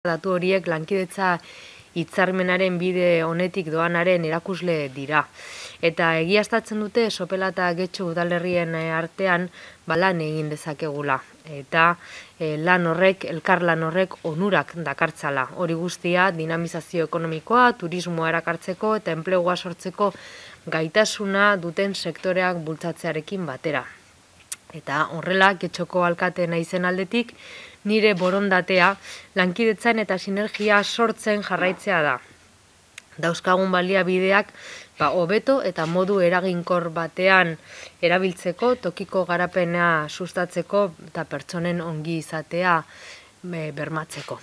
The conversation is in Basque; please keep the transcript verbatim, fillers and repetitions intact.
Datu horiek lankidetza hitzarmenaren bide honetik doanaren erakusle dira. Eta egiaztatzen dute Sopela eta Getxo udalerrien artean ba, lan egin dezakegula. Eta e, lan horrek, elkar lan horrek onurak dakartzala. Hori guztia dinamizazio ekonomikoa, turismoa erakartzeko eta enplegua sortzeko gaitasuna duten sektoreak bultzatzearekin batera. Eta horrela, Getxoko alkate naizen aldetik, nire borondatea lankidetzan eta sinergia sortzen jarraitzea da. Dauzkagun baliabideak ba, hobeto eta modu eraginkor batean erabiltzeko, tokiko garapena sustatzeko eta pertsonen ongi izatea bermatzeko.